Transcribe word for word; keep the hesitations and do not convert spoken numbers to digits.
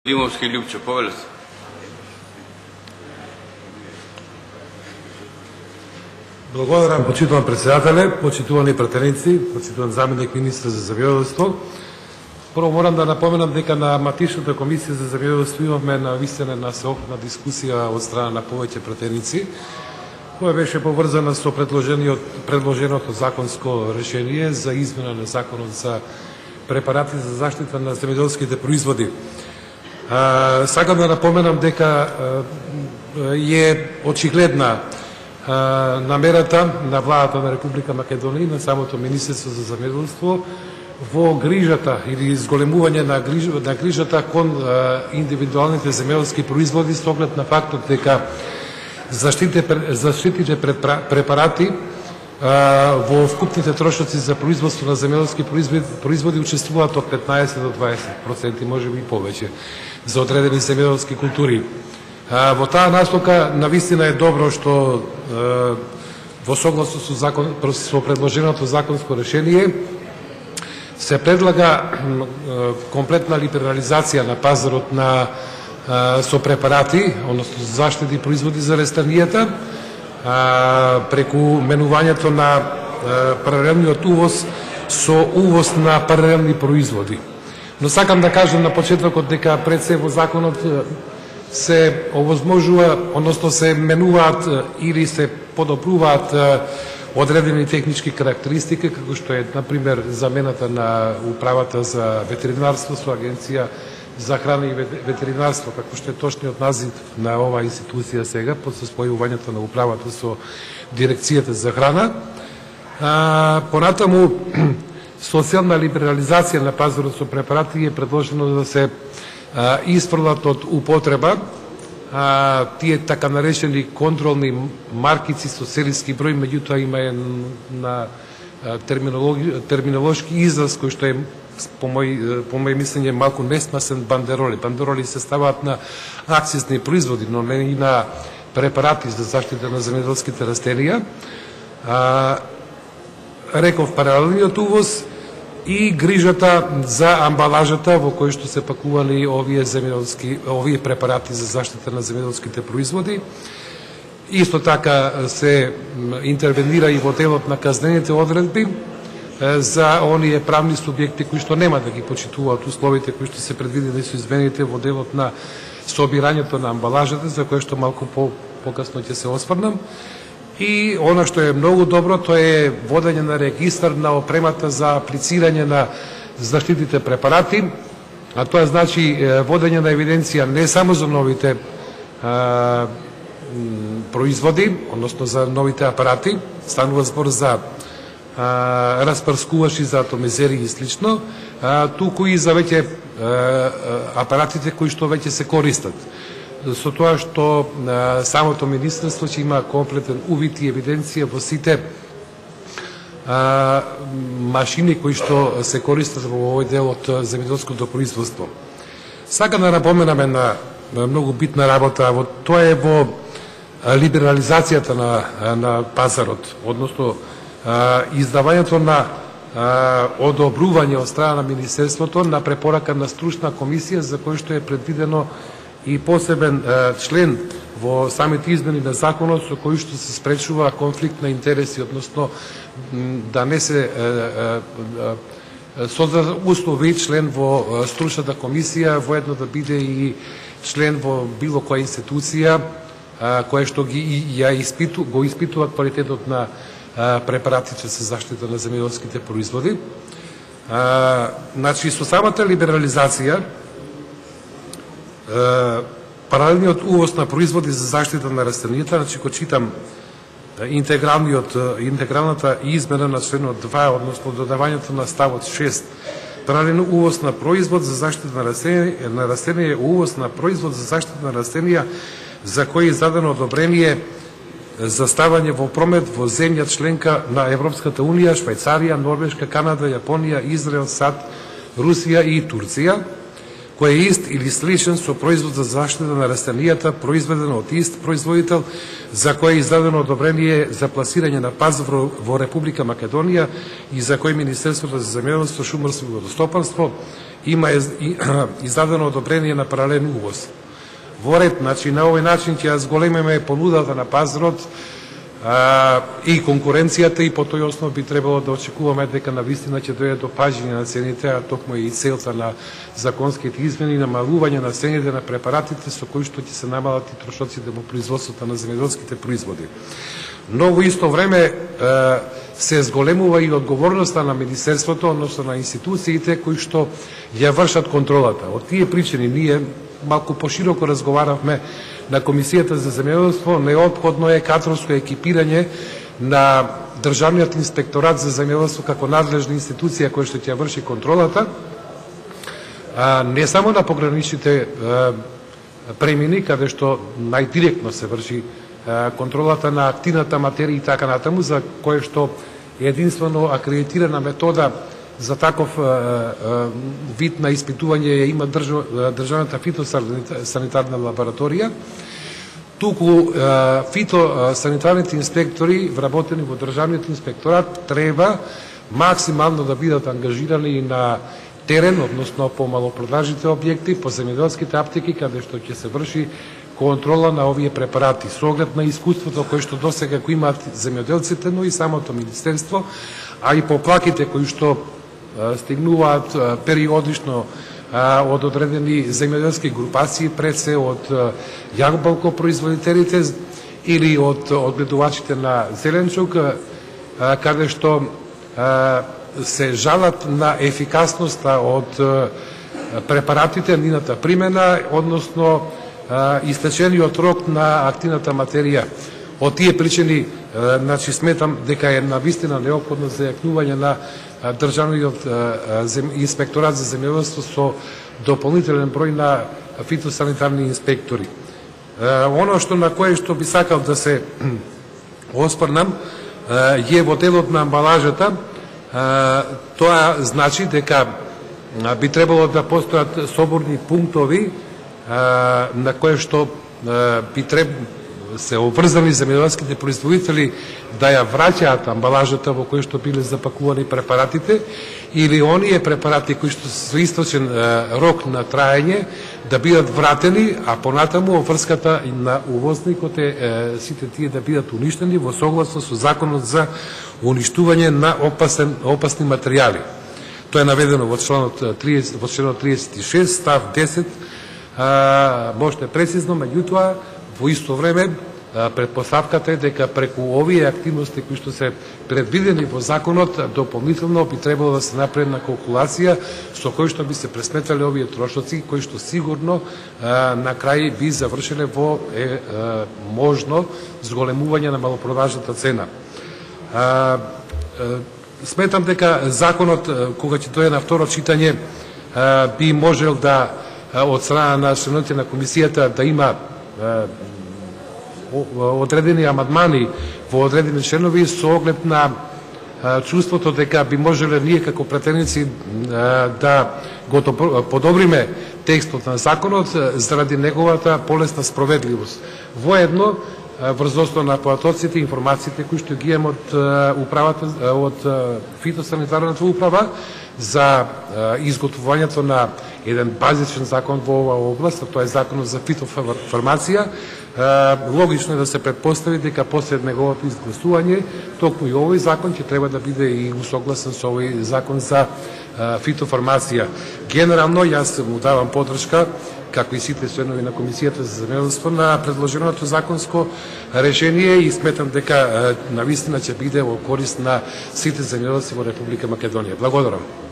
Димовски Љупчо, повеле се. Благодарам, почитуван председателе, почитувани пратеници, почитуван заменик министр за земјоделство. Прво морам да напоменам дека на матичната комисија за земјоделство имавме на вистина на сеопфатна дискусија од страна на повеќе пратеници, која беше поврзана со предложеното законско решение за измена на законот за препарати за заштита на земјоделските производи. А, сакам да напоменам дека е очигледна намерата на владата на Република Македонија и на самото Министерство за земјоделство во грижата или изголемување на, гриж, на грижата кон а, индивидуалните земјоделски производи с оглед на фактот дека заштитите, заштитите препарати а, во вкупните трошоци за производство на земјоделски производи, производи учествуваат од петнаесет до дваесет проценти, може би и повеќе, за одредени земјоделски култури. А, во таа насока навистина е добро што а, во согласно со, закон, со предложеното законско решение се предлага а, комплетна либерализација на пазарот на а, со препарати, односно заштити производи за растенијата, а, преку менувањето на а, паралелниот увоз со увоз на паралелни производи. Но сакам да кажам на почетокот дека пред се во законот се овозможува, односно се менуваат или се подобруваат одредени технички карактеристики, како што е, например, замената на управата за ветеринарство со Агенција за храна и ветеринарство, како што е точниот назив на оваа институција сега, под состојувањето на управата со Дирекцијата за храна. А, понатаму, социјална либерализација на пазарот со препарати е предложено да се а, испрлат од употреба а, тие така наречени контролни маркици со серијски број, меѓутоа има е на терминолошки израз кој што е по мој по мој мислење малку несмасен бандероли. Бандероли се ставаат на акцизни производи, но не и на препарати за заштита на земјоделските растенија. А, реков паралелниот увоз и грижата за амбалажата во кој што се пакувани овие земјоделски овие препарати за заштита на земјоделските производи. Исто така се интервенира и во делот на казнените одредби за оние правни субјекти кои што нема да ги почитуваат условите кои што се предвидени со измените во делот на собирањето на амбалажата, за кое што малку по покасно ќе се осврнам. И она што е многу добро, тоа е водење на регистар на опремата за аплицирање на заштитите препарати, а тоа значи водење на евиденција не само за новите а, производи, односно за новите апарати, станува збор за а, распрскувачи за атомизери и слично, а, туку и за веќе а, апаратите кои што веќе се користат. Со тоа што а, самото министерство ќе има комплетен увид и евиденција во сите а, машини кои што се користат во овој дел од земјоделското производство. Сакам да напоменаме на, на многу битна работа, во тоа е во либерализацијата на, на пазарот, односно а, издавањето на а, одобрување од страна на министерството на препорака на стручна комисија за кој што е предвидено и посебен а, член во самите измени на законот со кој што се спречува конфликт на интереси, односно да не се создаде услови член во стручната комисија воедно да биде и член во било која институција а, која што ги ја испиту, го испитуваат квалитетот на а, препаратите за заштита на земјоделските производи. А, значи, со самата либерализација паралелниот увоз на производи за заштита на растенијата, значи го читам интегралниот интегралната измена на членот два, односно додавањето на ставот шест. Паралелен увоз на производ за заштита на растенија, на растенија, увоз на производ за заштита на растенија за кој е издадено одобрение за ставање во промет во земја членка на Европската унија, Швајцарија, Норвешка, Канада, Јапонија, Израел, САД, Русија и Турција, кој е ист или сличен со производ за заштита на растенијата, произведен од ист производител, за кој е издадено одобрение за пласирање на пазар во Република Македонија и за кој Министерството за земјоделство, шумарство и водостопанство има издадено одобрение на паралелен увоз. Во ред, значи, на овој начин ќе зголемиме понудата на пазарот а, и конкуренцијата, и по тој основ би требало да очекуваме дека на вистина ќе дојде до пажење на цените, а токму и целта на законските измени, намалување на цените на препаратите со кои што ќе се намалат и трошоците во производството на земјоделските производи. Но во исто време се зголемува и одговорноста на Министерството, односно на институциите кои што ја вршат контролата. Од тие причини ние малку пошироко разговаравме на Комисијата за земјоделство. Неопходно е кадровско екипирање на Државниот инспекторат за земјоделство како надлежна институција која што ќе врши контролата, не само на пограничните премини, каде што најдиректно се врши контролата на активната материја и така натаму, за кое што единствено акредитирана метода за таков вид на испитување ја има Државната фитосанитарна лабораторија. Туку фитосанитарните инспектори вработени во Државниот инспекторат треба максимално да бидат ангажирани на терен, односно по малопродажните објекти, по земјоделските аптеки, каде што ќе се врши контрола на овие препарати, со оглед на искуството кое што досега го имаат земјоделците, но и самото министерство, а и поплаките кои што стигнуваат периодично од одредени земјоделски групации, пред се од јагобалкопроизводителите или од одгледувачите на зеленчук, каде што се жалат на ефикасноста од препаратите, нивната примена, односно истечениот рок на активната материја. Од тие причини, значи, сметам дека е навистина неопходно зајакнување на Државниот инспекторат за земјоделство со дополнителен број на фитосанитарни инспектори. Оно што на кое што би сакал да се оспрнам е во делот на амбалажата. Тоа значи дека би требало да постојат соборни пунктови на кое што би требало се обврзани земјоделските производители да ја враќаат амбалажата во која што биле запакувани препаратите, или оние препарати кои што се со источен рок на траење да бидат вратени, а понатаму обврската на увозникот е сите тие да бидат уништени во согласно со законот за уништување на опасен, опасни материјали. Тоа е наведено во членот триесет, во членот триесет и шест, став десет, може прецизно, меѓутоа во исто време предпоставката е дека преку овие активности кои што се предвидени во законот, дополнително би требало да се направи на калкулација со кои што би се пресметале овие трошоци, кои што сигурно на крај би завршиле во е, можно зголемување на малопродажната цена. Сметам дека законот, кога ќе дојде на второ читање, би можел да од страна на членовите на комисијата да има одредени амандмани во одредени членови со оглед на чувството дека би можеле ние како претеници да го подобриме текстот на законот заради неговата полесна спроведливост. Воедно, врз основа на податоците и информациите кои што ги имам од управата, од фитосанитарната управа за изготвувањето на еден базичен закон во оваа област, тоа е законот за фитофармација. Логично е да се претпостави дека после неговото изгласување, токму и овој закон ќе треба да биде и усогласен со овој закон за фитофармација. Генерално, јас му давам поддршка, како и сите членови на Комисијата за земјоделство, на предложеното законско решение и сметам дека навистина ќе биде во корист на сите земјоделци во Република Македонија. Благодарам.